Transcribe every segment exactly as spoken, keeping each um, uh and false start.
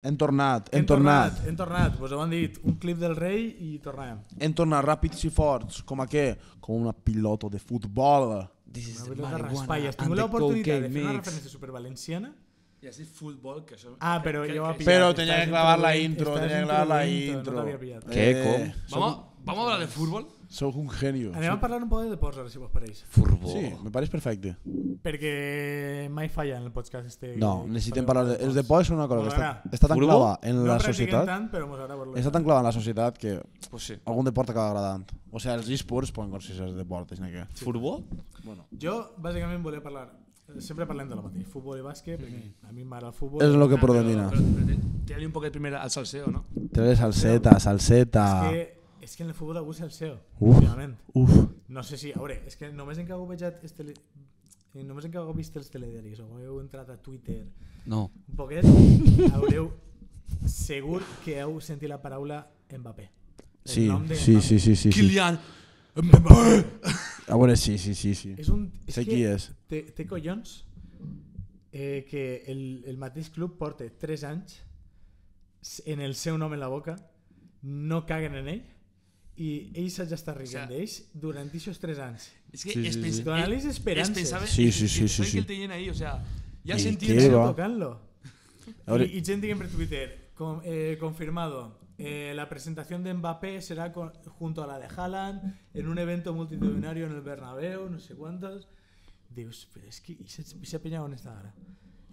Hem tornat, hem tornat. Hem tornat, vos ho han dit, un clip del rei i tornem. Hem tornat ràpids i forts, com a què? Com una pilota de futbol. Una pilota de raspalles. Tinc l'oportunitat de fer una referència supervalenciana. I has dit futbol, que això... Ah, però jo ho he pillat. Però tenia que clavar la intro, tenia que clavar la intro. No t'havia pillat. Què, com? Vamos, vamos a hablar de fútbol. Sou un genio. Anem a parlar un poc de deports, ara, si vos pareix. Futbol. Sí, me pareix perfecte. Perquè mai falla en el podcast este. No, necessitem parlar de... Els deports són una cosa que està, M'agrada. està tan Futbol? clava en No la practiquem societat. tant, però mos agrada veure-lo. Està tan clava en la societat que Pues sí. algun deport acaba agradant. O sigui, els esports poden considerar deport, és que... Futbol? Bueno. Jo, bàsicament, volia parlar... Sempre parlem de la mateix, futbol i bàsquet, perquè a mi m'agrada el futbol. És el que Ah, predomina. Pero, pero, pero tírale un poquet primer al salseo, ¿no? Tres salseta, salseta... És que, és que en el futbol algú se'l seu, Uf. últimament. Uf. No sé si... A veure, és que només en que heu vejat... Els tele... eh, Només en que heu vist els telediaris o heu entrat a Twitter No. un poquet, haureu segur que heu sentit la paraula Mbappé. El Sí, nom de sí, Mbappé. sí, sí, sí, sí. Kylian. A veure, sí, sí, sí, sí. És un... És Sé que qui és. Té, té collons eh, que el, el mateix club porta tres anys en el seu nom en la boca, no caguen en ell i ell s'ha d'estar riguent O sea, d'ells durant aquests tres anys. Es que Sí, es sí, pens- sí. Donarles es esperances. pensaba- Sí, es- sí, es sí, pensaba sí, que sí. el tenían ahí, o sea, ya I sentí què el- va? Tocant-lo. A veure, Y, y gente que en Twitter, con, eh, confirmado, eh, la presentación de Mbappé será con- junto a la de Haaland en un evento multitudinario en el Bernabéu, no sé cuántos. Dius, però és que aquesta penya on està ara?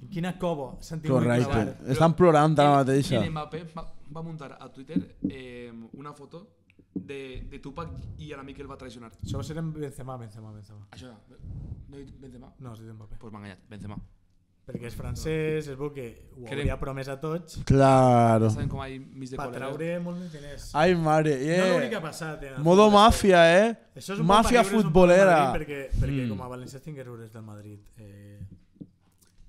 En quina cobo s'han tingut que correcte. clavar? Estan plorant ara mateixa. el Mbappé va, va a montar a Twitter eh, una foto de, de Tupac y a la Mikel va a traicionar. Això va ser en Benzema, Benzema, Benzema. Això, no he dit Benzema? No, has dit Mbappé. Pues m'ha enganyat, Benzema. Perquè és francès, es veu que ho Crec- hauria promès a tots Claro. Saben com hay mis de per col·legues? traure molts més diners. Ai, mare, No l'únic que yeah. ha passat. En el Modo futbol, màfia, eh? Això és un Màfia bon per riure, és un bon futbolera. Madrid perquè, perquè Mm. com a valencià tingués riures del Madrid eh,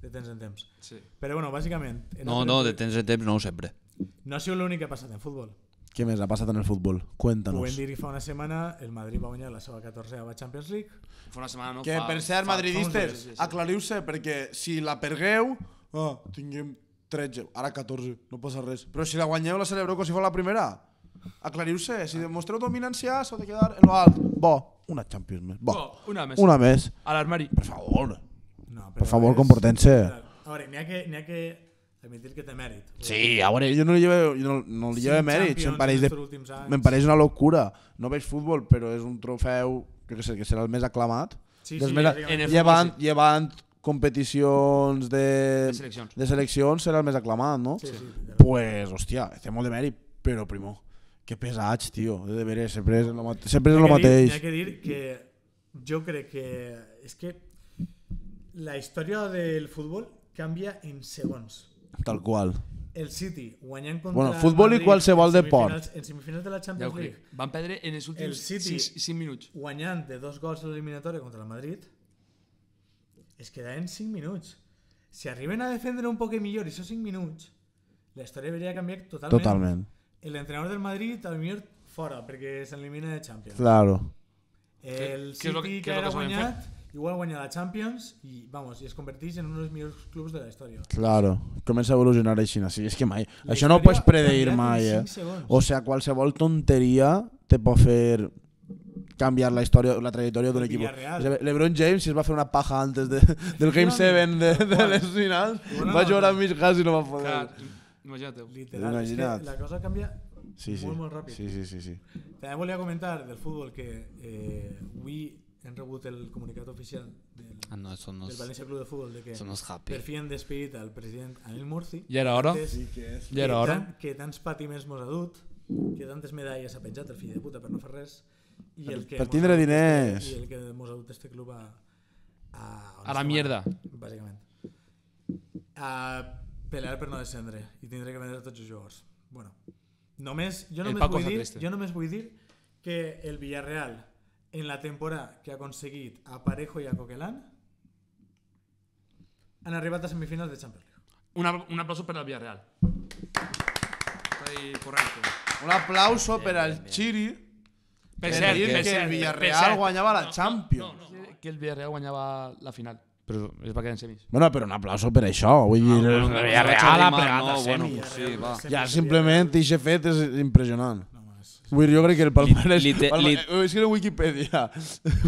de temps en temps. Sí. Però bueno, bàsicament... en No, altre no, de temps- temps en temps no, sempre. No ha sigut l'únic que ha passat en futbol. Què més ha passat en el futbol? Ho vam Cuéntanos. dir fa una setmana, el Madrid va guanyar la seva catorzena Champions League. Fa una setmana, no? Que fa, per cert, fa- madridistes, fa uns dies, sí, sí. aclariu-se, perquè si la pergueu, ah, tinguem tretze, ara catorze, no passa res. Però si la guanyeu, la celebreu com si fos la primera. Aclariu-se, si demostreu dominància, s'heu de quedar en lo alt. Bo, una Champions més. Bo, Oh, una més. una més. A l'armari. Per favor. No, Per favor, és- comporten-se. A veure, n'hi ha que, n'hi ha que admitir que té mèrit. Sí, a veure, jo no li llevo, jo no, no li llevo Cinc mèrits, em Champions pareix, en de, estos últims anys. me'n pareix una locura. No veig futbol, però és un trofeu, crec que, sé, que serà el més aclamat. Sí, Dels sí, més, bàsicament. en el llevant, futbol, llevant competicions de, De seleccions. de seleccions serà el més aclamat, no? Sí, sí. Pues, hòstia, té molt de mèrit, però primo, que pesats, tio, de veres, sempre és el, mate sempre és el N'hi ha que dir- mateix. N'hi ha que dir que jo crec que és que la història del futbol canvia en segons. Tal qual. El City guanyant contra Bueno, el futbol i Madrid qualsevol en deport. semifinals- En semifinals de la Ja Champions ho League, crec. Van perdre en els El últims City- cinc minuts. guanyant de dos gols a l'eliminatòria contra el Madrid, es queda en cinc minuts. Si arriben a defendre un poc millor i són cinc minuts, la història hauria canviat totalment. Totalment. L'entrenador del Madrid, al millor fora, perquè s'elimina de Champions. Claro. El Què- què és City, lo que- que, què és lo era que saben guanyat, igual guanya la Champions i, vamos, i es converteix en un dels millors clubs de la història. Claro, comença a evolucionar així, sí, és que mai, La això no ho història pots ha predir canviat mai, en eh? cinc segons. O sea, qualsevol tonteria te pot fer canviar la història, la trajectòria d'un El equip. Villarreal. LeBron James, si es va fer una paja antes de, del Game set de, de les finals, Bona va jugar nota. amb mig gas i no va poder. Clar, imagina't-ho. Literal, Imagina't. és que la cosa canvia Sí, sí. molt, molt ràpid. Sí, sí, sí, sí. També volia comentar del futbol que eh, avui hem rebut el comunicat oficial del, Ah, no, eso no del es, València Club de Futbol de que eso no es happy. per fi han despedit al president Anil Murci. Ja era hora. Antes Ja era que hora. tan- que tants patiments mos ha dut, que tantes medalles ha penjat el fill de puta per no fer res i el que Per mos tindre ha dut diners. este, i el que mos ha dut este club a a, on A la estem mierda. ara, bàsicament a pelear per no descendre i tindre que vendre tots els jugadors. Bueno, només jo El només Paco vull està dir triste. jo només vull dir que el Villarreal en la temporada que ha aconseguit a Parejo i a Coquelin han arribat a semifinals de Champions League. Una, un aplauso per al Villarreal. Ahí, correcto. Un aplauso per al Chiri Per per cert, dir per que cert, el per Villarreal cert. guanyava la No, Champions. No, no, no, que el Villarreal guanyava la final. Però és perquè en semis. Bueno, però un aplauso per això, vull dir, el Villarreal ha plegat a bueno, semis. pues sí, va. Ja simplement ixe fet és impressionant. No, és... Vull dir, jo crec que el palmarès... Li- li- Palma- li- eh, és que en Wikipedia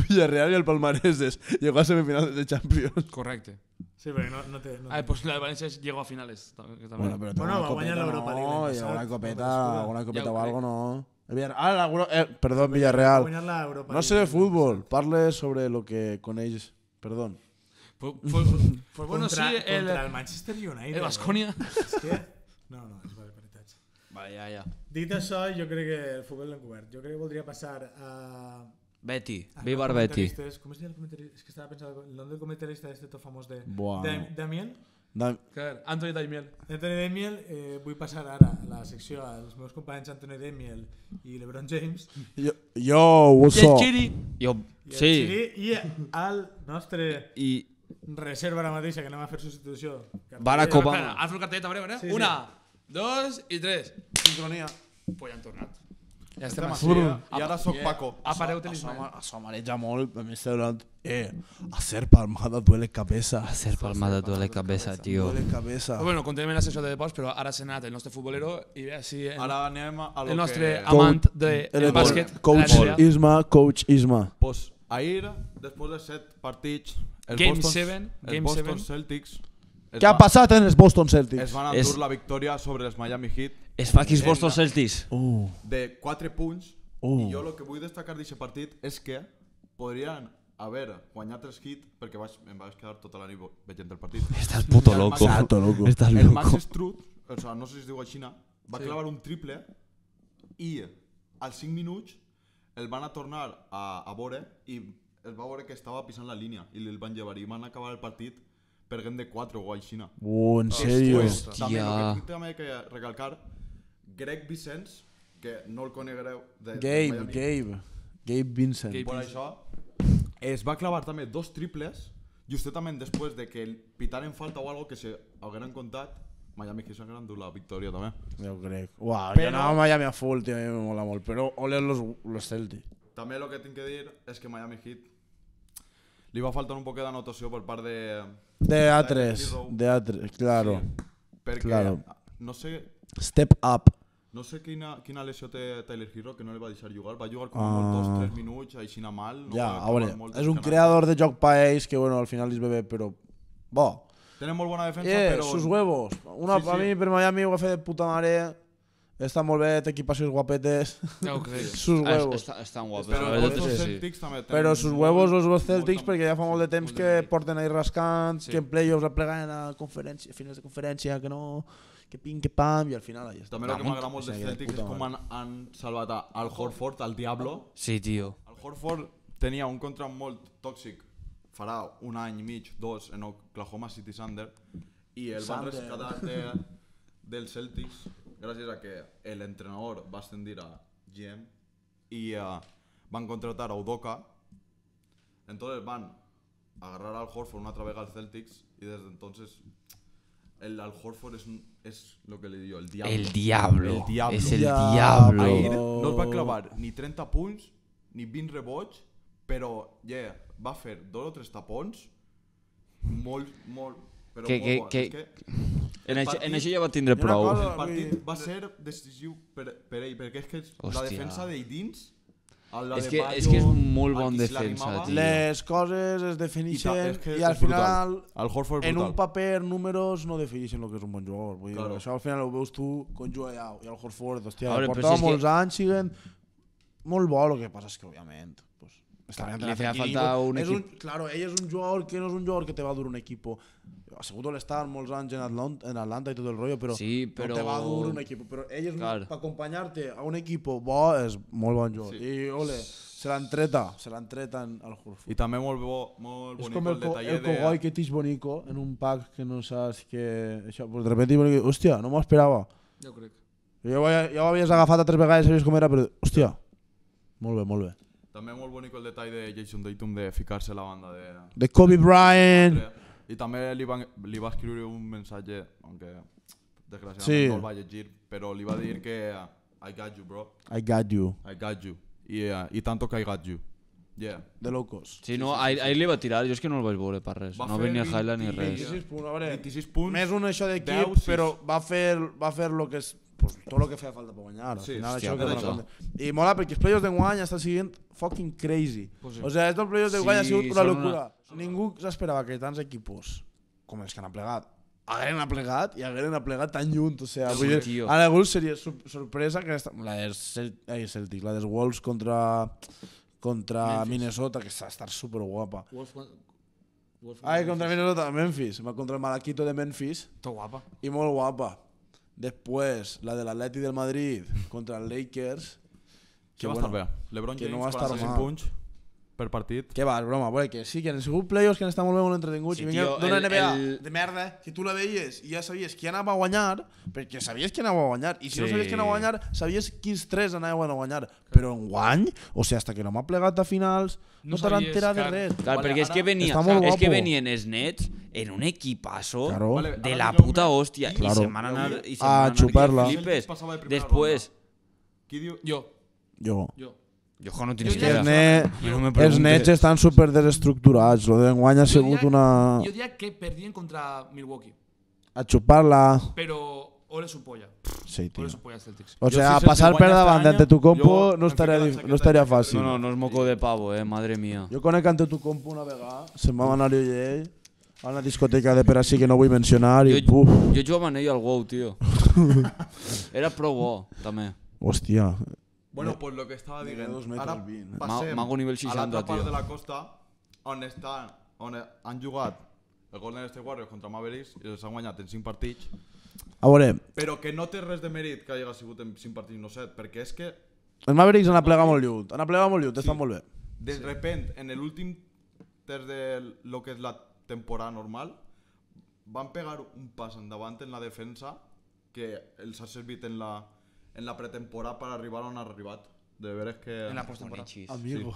Villarreal i el palmarès és llegó a semifinals de Champions. Correcte. Sí, perquè no, no té... No Ah, té. pues la de València llegó a finales. tam- que també. Bueno, però té Bueno, alguna va guanyar copeta, l'Europa League no, l'any i alguna passat, copeta, no me'ls alguna copeta Ja ho o crec. algo, no. El Villar- Ah, l'Euro... Eh, perdó, Va Villarreal. guanyar l'Europa No sé de League. fútbol, parle sobre lo que coneix. Perdó. Pues, pues, pues bueno, contra, sí, el, contra el Manchester United. el Baskonia. Eh? És que... No, no, és veritat. Vale, ja, ja. Dit això, jo crec que el futbol l'hem cobert. Jo crec que voldria passar a... Betty, a viva los el Betty. comentaristes. Com es diu el comentarista? És que estava pensant el nom del comentarista este tot famós de... Buah. Dam- Damiel. Da- Clar, Anthony Daimiel. Anthony Damiel, eh, vull passar ara a la secció als meus companys Anthony Damiel i LeBron James. Yo, yo, what's I el up? Chiri. Jo, I el sí, Xiri, i al nostre i reserva ara mateixa, que anem a fer substitució. Barack Cartell. Obama. Espera, haz el cartellet, a veure, a veure. Sí, sí. Una, dos i tres. Sincronia. Pues ja han tornat. Ja Estem estem així, així. eh? I ara sóc Paco. Apareu Això, talismà. això mareja molt, a mi està donant... Eh, hacer palmada duele cabeza. hacer palmada duele cabeza, tío. Duele cabeza. Pues bueno, continuem en la sessió de deports, però ara s'ha anat el nostre futbolero i ve així el, Ara anem a lo el nostre que... amant del El bàsquet. Coach de la N B A. Isma, Coach Isma. Pues ahir, després de set partits, el Game Boston, seven, el Game Boston seven. Celtics es Què ha va- passat en els Boston Celtics? es van És- endur la victòria sobre els Miami Heat Es fa aquí els En Boston la- Celtics. Uh, de quatre punts Uh. i jo el que vull destacar d'aquest partit és que podrien haver guanyat els Heat perquè vaig, em vaig quedar tota la nit veient el partit. Estás puto El loco. Max- Exacto, loco. Estás El Max loco. Strud, o sea, no sé si es diu així, va clavar un triple i als cinc minuts el van a tornar a, a veure i es va veure que estava pisant la línia i el van llevar i van acabar el partit perdent de quatre o així. uh, en serio. Pues, també el Hòstia. que tinc també que recalcar, Greg Vicens, que no el conegreu de, de Gabe, Miami, Gabe. Gabe Vincent. Gabe. per això es va clavar també dos triples justament després de que el pitaren falta o algo que se hagueren contat. Miami Heat s'hagueren dut la victòria també. Jo crec. Uau, Però- jo anava a Miami a full, tio, a mi me mola molt. Però ole los, los Celtics. També el que tinc que dir és que Miami Heat li va faltar un poc d'anotació per part de... De A tres, de A tres, claro. Sí, perquè claro. no sé Step up. no sé quina, quina lesió té Tyler Hero que no li va deixar jugar. Va jugar com Ah. ah. dos tres minuts, així anar mal. No Ja, va a acabar veure, molts és un canastes. creador de joc pa ells que, bueno, al final li ve bé, però... Bo. Tenen molt bona defensa, Eh, però... sus huevos. Una, Sí, sí. A mi, per Miami, ho va fer de puta mare. Està molt bé, té equipacions guapetes. Ja ho crec. Sus Ah, huevos. Està, estan guapos. Però la els veritat Boston és que sí. Celtics també tenen Però sus molt- huevos els molt- Celtics, molt- perquè ja fa molt de temps molt que de mèrit. porten ahí rascants, Sí. que en playoffs apleguen a conferència, a finals de conferència, que no, que pim, que pam, i al final ahí està. També el que m'agrada molt Sí, dels de Celtics puta és com mare. han, han salvat a Al Horford, al Diablo. Sí, tio. Al Horford tenia un contract molt tòxic farà un any i mig, dos, en Oklahoma City Thunder, i el van Thunder. rescatar de, dels Celtics gràcies a que l'entrenador va ascendir a G M i uh, van contratar a Udoka. Entonces van agarrar al Horford una altra vegada als Celtics y desde entonces el Al Horford es, un- es lo que le digo, el diablo. El diablo. El diablo. Es el Diablo. diablo. Ahir no es va clavar ni trenta punts ni vint rebots, però yeah, va fer dos o tres tapons molt, molt, però Que- molt que- bons. que- És que En el això, en partit- això ja va tindre I una prou. cosa- el partit va ser decisiu per, per ell, perquè és que la Hòstia. defensa d'ell dins, la És de que- Bayo, és que és molt a bon qui se defensa, l'arrimava, tio. Les coses es I ta- defineixen és que i al és brutal. final El Horford és en un brutal. paper números no defineixen el que és un bon jugador. Vull dir, Claro. això al final ho veus tu quan juga allà i el Horford, hòstia, A veure, però portava si és molts que- anys, siguen molt bo, el que passa és que òbviament pues, està Clar, bien li feia equilibrio. falta un És equip- Claro, ell és un jugador que no és un jugador que te va dur un equipo. Ha sigut l'estar molts anys en Atlanta, en Atlanta i tot el rollo, però, Sí, però- no te va dur un equip. Però ell és un, Clar. per acompanyar-te a un equip bo és molt bon jugador. Sí. I ole, se l'han treta, se l'han treta al Horford. I també molt, bo, molt És bonic com el, el, co detall el de... Kogoi que tix bonico en un pack que no saps que... Això, pues de repente bonico, hòstia, no m'ho esperava. Ja ho crec. Jo ja, ja ho havies agafat a tres vegades, sabies com era, però hòstia, molt bé, molt bé. També molt bonic el detall de Jason Tatum de ficar-se a la banda de... De Kobe Bryant. I també li, van, li va escriure un missatge, aunque desgraciadament Sí. no el va llegir, però li va dir que uh, I got you, bro. I got you. I got you. I, uh, I tanto que I got you. Yeah. de low cost. Sí, no, ahir, ahir li va tirar, jo és que no el vaig veure per res. Va No fer venia highlight ni vint- res. vint-i-sis punts, a veure, vint-i-sis punts. més un això deu, d'equip, sis. però va fer, va fer lo que és, pues, tot el que feia falta per guanyar. Al Sí, final, hòstia, això que per dona això. compte. I mola perquè els playoffs d'enguany estan sent fucking crazy. Pues sí. O sea, estos playoffs d'enguany Sí, ha sigut una són locura. Ningú s'esperava que tants equipos com els que han aplegat hagueren aplegat i hagueren aplegat tan lluny. O sea, Sí, vull dir, tio. a algú seria sor- sorpresa que esta, la dels Cel ai, Celtics, la dels Wolves contra contra Minnesota, que està estar super guapa. Wolf, Wolf, Ai, contra Minnesota, Memphis, va contra el Malaquito de Memphis Tot guapa. i molt guapa. Després, la de l'Atleti del Madrid contra els Lakers, Que va estar bé. LeBron que James, no va estar quaranta-cinc mal. punts per partit. que va, és broma, bueno, que sí, que han sigut playoffs que han estat molt bé, molt entretinguts, Sí, i vinga tio, d'una el- N B A el- de merda, que tu la veies i ja sabies qui anava a guanyar, perquè sabies qui anava a guanyar, i si no Sí. sabies qui anava a guanyar, sabies quins tres anaven a guanyar, però en guany, o sigui, hasta que no m'ha plegat a finals, no, No no t'han sabies, enterat de clar. res. Clar, Vale, perquè és ara que, venia, està molt és que guapo. venien els Nets en un equipazo Claro. Vale, de ara la digueu-me puta hòstia qui- i Claro. se van anar, i se A van anar xupar-la. que flipes. Passava de primera Després, Qui diu... Jo, Jo. jo. jo no tens Jo que ja- Els, idea. ne Jo no me els preguntes. nets estan super desestructurats, lo d'enguany ha Jo sigut diria- una... Jo diria que perdien contra Milwaukee, a xupar-la... però ole su polla. Sí, tio. Ole su polla Celtics. O Jo, sea, si pasar Celtic per guanya davant este ante tu año, compo jo no em estaria, fico la dif- chaqueta no estaria de- fàcil. No, no, no és moco de pavo, eh, madre mía. Jo conec ante tu compo una vegada, se'n va anar jo i ell a una discoteca de per així que no vull mencionar i Jo, puf, jo jugava amb ell al WoW, tio. Era prou bo, també. hòstia. Bueno, pues lo que estava de dient. dos metres Ara vint. passem Ma- mago nivell a seixanta, l'altra part tio. de la costa on, estan, on han jugat el Golden State Warriors contra Mavericks i els han guanyat en cinc partits, A veure, però que no té res de mèrit que hagi sigut en cinc partits, no set, perquè és que els Mavericks han aplegat molt lluny, han aplegat molt lluny, estan molt bé. de repent, en l'últim terç de lo que és la temporada normal, van pegar un pas endavant en la defensa que els ha servit en la, en la pretemporada per arribar on ha arribat. De veres que... En la postemporada. Amigo.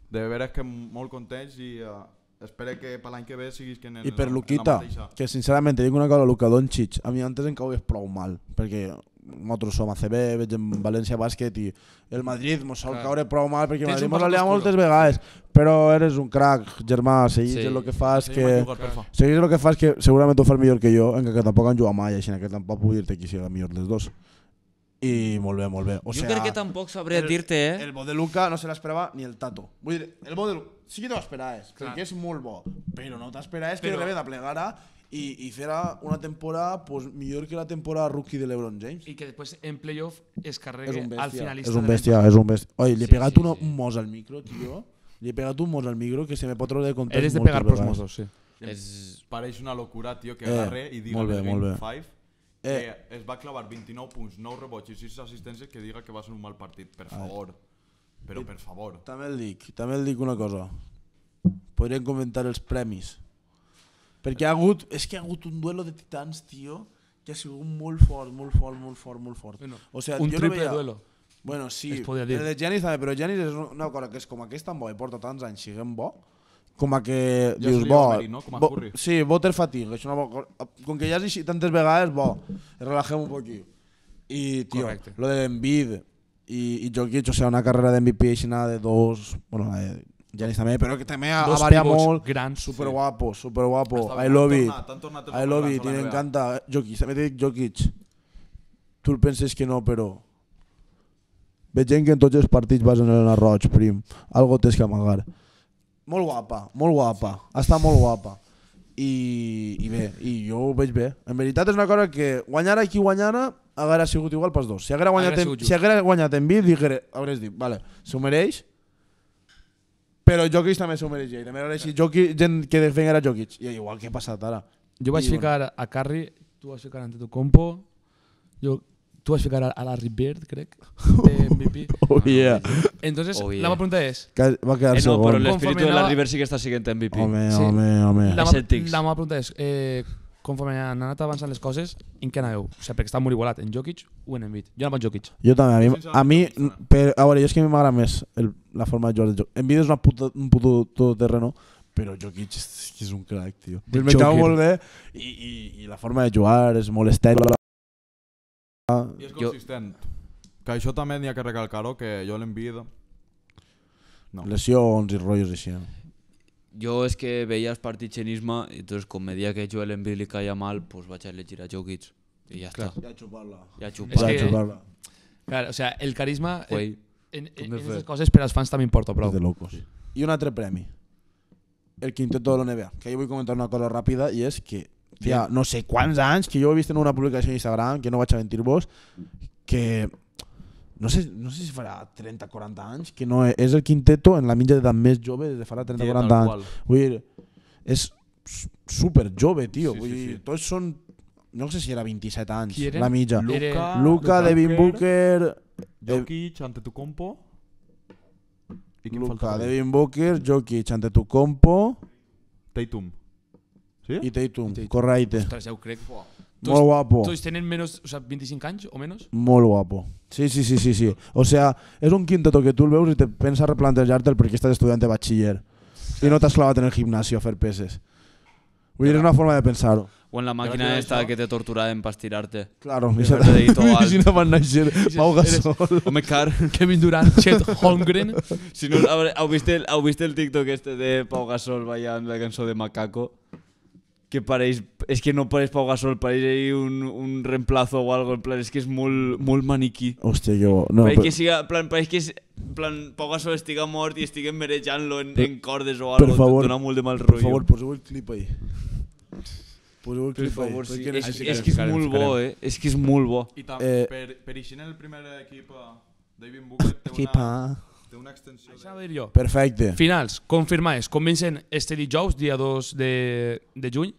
De veres que molt contents i uh, espero que per l'any que ve siguis que en, I per en la, Luquita, en la mateixa. que sincerament te dic una cosa, Luka Doncic, a mi antes em cau prou mal, perquè nosaltres som A C B, veig en València Bàsquet i el Madrid mos sol Clar. caure prou mal perquè el Tens Madrid un mos passat alia oscuro. moltes vegades, però eres un crack, germà, seguís Sí. sí. el que fas Sí, que... m'ha jugat, porfa. Seguís el que fas que segurament ho fas millor que jo, encara que tampoc han jugat mai, així que tampoc puc dir-te qui sigui el millor dels dos. I molt bé, molt bé. O Jo sea, crec que tampoc sabria el- dir-te, eh? El bo de Luka no se l'esperava ni el Tato. Vull dir, el bo de Luka sí que t'ho esperaves, Clar. perquè és molt bo, però no t'esperaves que Però- de repente aplegara i, i fera una temporada pues, millor que la temporada rookie de LeBron James. Y que después en playoff es És carregue un al bèstia, finalista. és un de la bèstia, és un bèstia. Oi, li he Sí, pegat sí, una- sí. un mos al micro, tio. Li he pegat un mos al micro que se me pot treure de context Eres de moltes pegar pros vegades. mozos, sí. És... Pareix una locura, tio, que Eh, agarre i diga molt bé, en molt el bé. Game cinc Eh. que es va clavar vint-i-nou punts, nou rebots i sis assistències, que diga que va ser un mal partit, per favor. Però per favor. També el dic, també el dic una cosa. Podríem comentar els premis. Perquè ha hagut, és que ha hagut un duelo de titans, tio, que ha sigut molt fort, molt fort, molt fort, molt fort. Bueno, O sea, un jo no triple veia... duelo. Bueno, sí, es podia el dir. de Giannis també, però Giannis és una cosa que és com que és tan bo i porta tants anys siguem bo, com a que Ja dius, seria bo, mèrit, no? Com a bo Curry. sí, water fatigue, és una bo, com que ja has així tantes vegades, bo, relajem un poquillo. I, tio, Correcte. lo de Embiid i, i Jokic, o sea, una carrera de M V P així nada de dos, bueno, la de Giannis també, però que també ha, ha Dos variat pivots molt, grans. super guapo, super guapo, Està I bé, love han it, tornat, han tornat els I love grans it, a la i N B A. m'encanta. Jokic, també te dic Jokic, tu el penses que no, però veig gent que en tots els partits vas en el roig, prim. Algo tens que amagar. Molt guapa, molt guapa. Està molt guapa. I, i bé, i jo ho veig bé. En veritat és una cosa que guanyara qui guanyara haguera sigut igual pels dos. Si haguera guanyat, Haguera en, sigut just. si haguera guanyat en Bid, diguere, hauries dit, vale, s'ho mereix, però Jokic també s'ho mereixia. I també hauria dit Jokic, gent que defenga era Jokic. I igual que ha passat ara. Yo voy a Y bueno. ficar a Curry, tú vas a ficar ante tu compo, yo, tú vas a ficar a, a Larry Bird, creo, de M V P. Oh yeah. Entonces, Oh, yeah. la pregunta es, Que va quedar Eh, no, segon. però l'espíritu Conforme de la anava- River sí que està siguent M V P. Home, Sí. home, home. la, Els ma- Celtics. la meva pregunta és, eh, conforme han anat avançant les coses, en què aneu? O sigui, perquè està molt igualat, en Jokic o en Embiid? Jo anava en Jokic. Jo també, a mi, Jo a mi sincerament no per, a veure, jo és que a mi m'agrada més el, la forma de jugar del joc. Envidia és una puta, un puto todoterreno, però Jokic és, és un crack, tio. The El menjava Joker. molt bé i, i, i la forma de jugar és molt estèria. I és Jo- consistent. Que això també n'hi ha que recalcar-ho, que jo l'Embiid No. Lesions i rotllos així. Jo és que veia els partits en Isma i entonces com me dia que Joel Embiid li caia mal, pues vaig a elegir a Jokic i ja està. Ja xupar-la. Ja És xupa. Ja que- xupar-la. Clar, o sea, el carisma en, Güey, en, en, de en fer. aquestes coses per als fans també importa prou. De locos. I un altre premi. El quinteto de la N B A. Que jo vull comentar una cosa ràpida i és que, tia, no sé quants anys que jo he vist en una publicació d'Instagram, que no vaig a mentir-vos, que no sé, no sé si farà trenta o quaranta anys, que no és, és el quinteto en la mitja d'edat més jove des de farà trenta o quaranta anys. Vull dir, és super jove, tio. Sí, Vull sí, dir, sí. tots són, no sé si era vint-i-set anys, Qui eren? la mitja. Lu- Luka, Luka, Devin Booker, Jokic, Antetokounmpo. I quin Luka, falta? Devin Booker, Jokic, Antetokounmpo Tatum. Sí? i Tatum. Tatum. Correcte. Ostres, ja ho crec. Molt guapo. Tots tenen menos, o sea, veinticinc anys o menos? Molt guapo. Sí, sí, sí, sí, sí. O sea, és un quinteto que tu el veus i te pensa replantejar-te'l perquè estàs estudiant de batxiller i no t'has clavat en el gimnasio a fer peses. Vull dir, és una forma de pensar-ho. O en la màquina Gràcies a esta això. que te torturaven per estirar-te. Claro. I haver-te dit tot alt. Si no van néixer Pau Gasol. Home, car. Kevin Durant, Chet Holmgren. Si no, habré- heu vist el, heu vist el TikTok este de Pau Gasol ballant la cançó de Macaco? Que pareix, és que no pareix Pau Gasol, pareix ahí un, un reemplazo o algo, en plan, és que és molt, molt maniquí. Hòstia, jo... No, pareix però, que siga, en plan, pareix que és, en plan, Pau Gasol estiga mort i estiguen merejant-lo en, Per- en cordes o per algo, favor, dona molt de mal per rotllo. favor, poseu el clip ahí. Poseu el Per clip ahí. favor, sí. perquè És, necessito- és que és molt bo, eh? És que és molt bo. I també, Eh, per, per eixir en el primer equip, eh, David Booker té Equipa. una, té una extensió Això de... dir jo. Perfecte. Finals, confirmades. Comencen este dijous, dia dos de, de juny.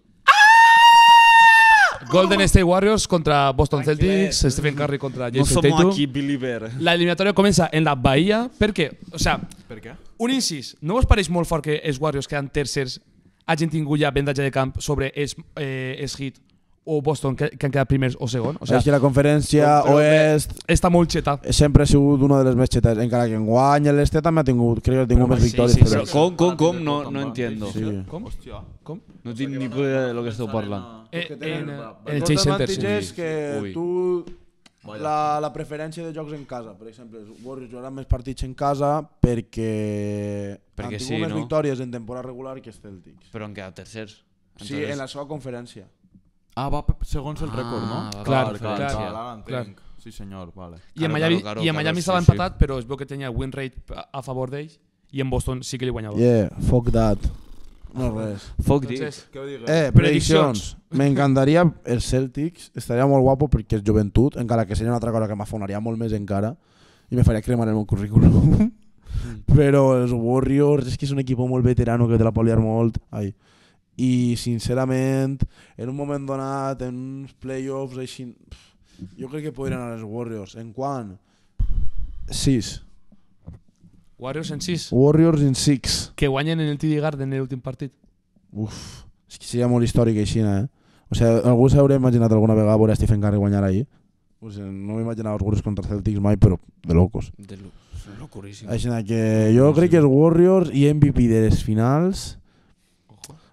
Golden State Warriors contra Boston Celtics, Stephen Curry contra No Jason som Tatum. aquí, believer. La eliminatòria comença en la Bahia perquè, o sea, Per què? un incís, no us pareix molt fort que els Warriors quedan tercers hagin tingut ja avantatge de camp sobre els, eh, els Heat o Boston que, que han quedat primers o segon? O O sigui, sea, la conferència però- oest està molt xeta. sempre ha sigut una de les més xetes, encara que en guany l'este també ha tingut, crec que ha tingut Però més sí, victòries. sí, però- sí. Com, com, com? No, no entiendo. Sí. Com? Hòstia. Com? No tinc ni idea de lo que esteu parlant. Eh, Que en, tenen- en El el Chase Center, sí. avantatge és que Ui. tu la, la preferència de jocs en casa, per exemple, els Warriors jugaran més partits en casa perquè, Perquè han tingut sí, més no? victòries en temporada regular que els Celtics. Però han quedat tercers. Sí, en la seva conferència. Ah, va pe- segons el Ah, rècord, no? va, Clar, Clar, clar, clar, clar, ara entenc. clar. Sí, senyor, vale. I en Claro, Miami, claro, i en claro, Miami sí, estava sí. empatat, però es veu que tenia win rate a, a favor d'ells i en Boston sí que li guanyava. Yeah, fuck that. No res. Fuck this. Entonces, Què ho digues? Eh, Prediccions. prediccions. M'encantaria els Celtics, estaria molt guapo perquè és joventut, encara que seria una altra cosa que m'afonaria molt més encara i me faria cremar el meu currículum. Però els Warriors és que és un equip molt veterano que te la pot liar molt. Ai. I sincerament, en un moment donat, en uns playoffs així, pff, jo crec que podrien anar els Warriors. En quant? sis. Warriors en sis, Warriors in six. que guanyen en el T D Garden en l'últim partit. Uf, és que seria molt històric així, eh? O sigui, algú s'hauria imaginat alguna vegada veure a Stephen Curry guanyar ahir? O sigui, no m'imaginava els Warriors contra els Celtics mai, però de locos. De lo, locuríssim. Així que jo crec que els Warriors i M V P de les finals...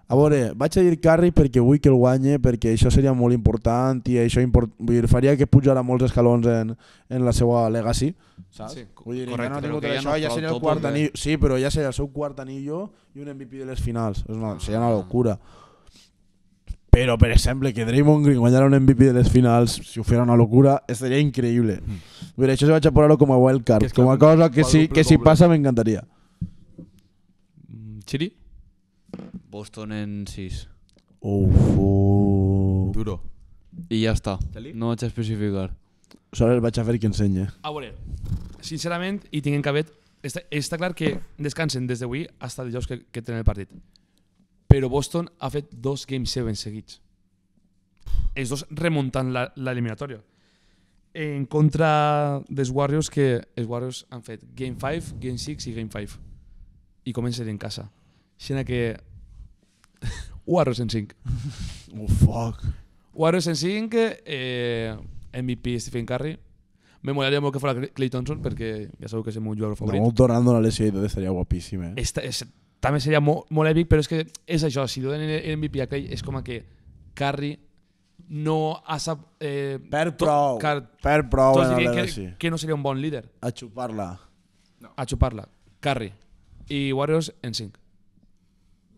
A veure, vaig a dir Curry perquè vull que el guanye, perquè això seria molt important i això import... vull dir, faria que pujara molts escalons en, en la seva legacy, saps? Sí, vull dir, correcte, ja no ha però tingut que ja això, no ja prou seria el top, quart eh? anillo. Sí, però ja seria el seu quart anillo i un M V P de les finals. És una, seria una locura. Però, per exemple, que Draymond Green guanyara un M V P de les finals, si ho fera una locura, seria increïble. Vull dir, això se vaig a posar-ho com a wildcard, Que és com a que cosa que si, quadruple que si doble. passa m'encantaria. Mm, Chiri? Boston en sis. Uf, uf. Duro. I ja està. Xali? No vaig a especificar. Solo el vaig a fer que ensenye. A veure, sincerament, i tinguem cabet, està, està clar que descansen des d'avui fins dijous que, que tenen el partit. Però Boston ha fet dos Game set seguits. Els dos remuntant la- l'eliminatòria. En contra dels Warriors, que els Warriors han fet Game cinc, Game sis i Game cinc. I comencen en casa. Així que... Warriors en cinc. Oh, fuck. Warriors en cinc, eh, M V P Stephen Curry. Me molaria molt que fos Klay Thompson perquè ja sabeu que és el meu jugador favorit. No, tornando la lesió i tot estaria guapíssim, eh? Esta, és, també seria molt, molt èpic, però és que és això, si donen el M V P a Klay és com que Curry no ha sap... Eh, Per to- prou, car- per prou tots en el dirien legacy. que, que no seria un bon líder A xupar-la. a xupar-la. Curry. i Warriors en cinc.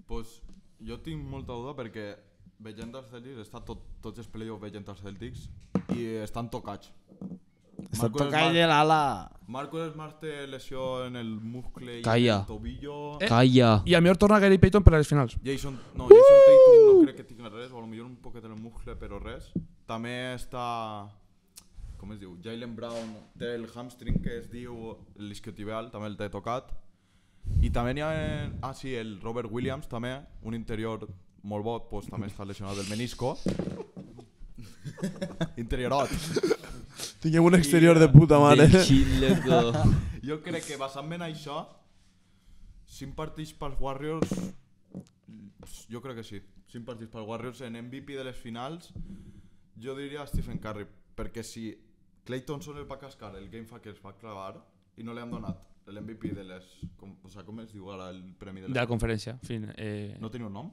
Pues jo tinc molta duda perquè veient els Celtics, està tot, tots els playoffs veient els Celtics i estan tocats. Està Marcus tocant Smart- l'ala. Marcus Smart té lesió en el muscle i Calla. en el tobillo. Eh. Calla. I a millor torna Gary Payton per a les finals. Jason, no, Jason Tatum no crec que tingui res, o potser un poquet en el muscle, però res. També està, com es diu, Jaylen Brown té el hamstring que es diu l'isquiotibial, també el té tocat. I també n'hi ha, ah sí, el Robert Williams també, un interior molt bo, pues, també està lesionat del menisco. Interiorot. Tinguem un exterior de puta mare. Del xile, Jo crec que basant en això, cinc partits pels Warriors, jo crec que sí. cinc partits pels Warriors en M V P de les finals, jo diria Stephen Curry, perquè si Klay Thompson el va cascar, el game fa que es va clavar i no li han donat l'M V P de les... Com, o sea, com es diu ara el premi de les... De la conferència. Fin, eh, No tenia un nom?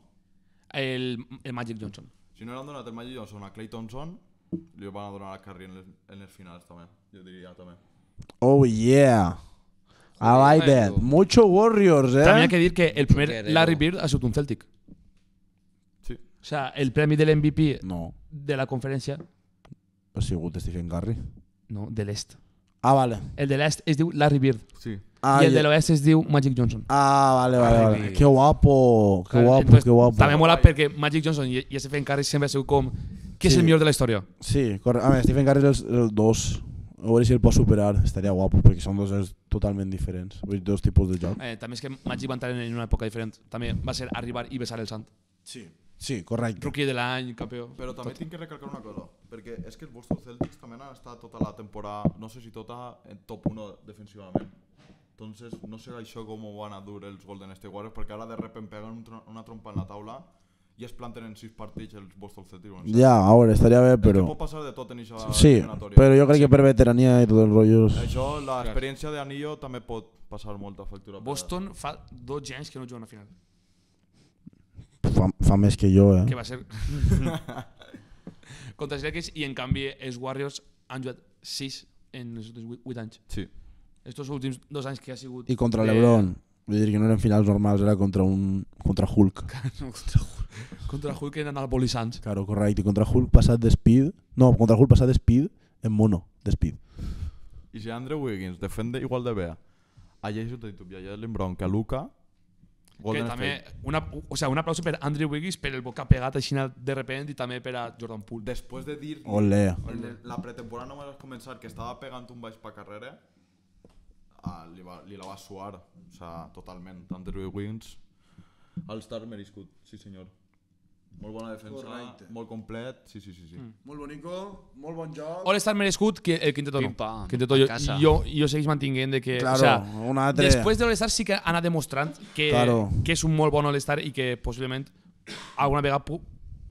el, el Magic Johnson. Si no li han donat el Magic Johnson a Klay Thompson, li van a donar a Curry en les, en les finals també, jo diria també. Oh yeah. I like that. Mucho Warriors, eh? També hay que dir que el primer Guerrero. Larry Bird ha sigut un Celtic. Sí. O sea, el premi de l'M V P No, de la conferència, ha sigut Stephen Curry. no, de l'est. Ah, vale. El de l'est es diu Larry Bird Sí. Ah, i el ja- de l'oest es diu Magic Johnson. Ah, vale, vale, Larry vale. Bird. Qué guapo, qué guapo, Entonces, qué guapo. També mola perquè Magic Johnson i, i Stephen Curry sempre ha sigut com qui és Sí. el millor de la història. Sí, correcte. A veure, Stephen Curry és el, el dos. A veure si el pot superar. Estaria guapo, perquè són dos jocs totalment diferents. Vull dir, dos tipus de joc. Eh, també és que Magic va entrar en una època diferent. També va ser arribar i besar el sant. Sí. Sí, correcte. Rookie de l'any, campió. Però també tinc que recalcar una cosa, perquè és que els Boston Celtics també han estat tota la temporada, no sé si tota, en top uno defensivament. Entonces, no sé això com van a dur els Golden State Warriors, perquè ara de repente peguen un tro- una trompa en la taula i es planten en sis partits els Boston Celtics. Bueno, Ja, a veure, estaria bé, és que però... pot passar de tot en aquesta Sí, eliminatòria. però jo crec que per veterania i tot el rotllo... Això, l'experiència d'anillo també pot passar molta factura. Boston fa dotze anys que no juga una final. Fa, fa més que jo, eh? Que va ser... contra els Lakers i en canvi els Warriors han jugat sis en els últims vuit anys. Sí. Estos últims dos anys que ha sigut... I contra de- l'Ebron. Vull dir que no eren finals normals, era contra un... contra Hulk. No, contra Hulk. Contra Hulk eren anabolizants. Claro, correcte. I contra Hulk passat de speed... No, contra Hulk passat de speed en mono, de speed. I si Andrew Wiggins defende igual de bé a Jason Tatum i a Jaylen Brown que a Luka, Que Golden també, State. una, o sea, un aplauso per Andrew Wiggins per el boca pegat així de repente i també per a Jordan Poole. Després de dir Olé. en el- la pretemporada només vas començar que estava pegant un baix pa carrera, ah, li, va, li la va suar, o sea, totalment. Andrew Wiggins, All-Star merescut, sí senyor. Molt bona defensa, Correcte. molt complet, sí, sí, sí. sí. Mm. Molt bonico, molt bon joc. All-Star merescut que el Quinteto no. Pim-pam, Quinteto a jo, casa. jo, jo segueix mantinguent de que... Claro, o sea, un altre... després de l'All-Star sí que ha anat demostrant que, Claro. que és un molt bon All-Star i que possiblement alguna vegada pu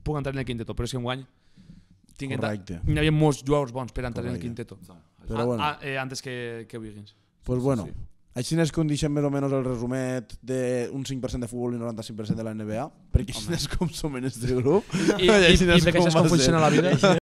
puc entrar en el Quinteto, però és que enguany tinc Correcte. n'hi havia molts jugadors bons per entrar en el Correcte. Quinteto. Però Ah, bueno. ah, eh, antes que, que Wiggins. Pues bueno, sí. així es condixen més o menys el resumet d'un cinc per cent de futbol i noranta-cinc per cent de la N B A, perquè així és com som en este grup. I, i, i perquè això és com funciona la vida.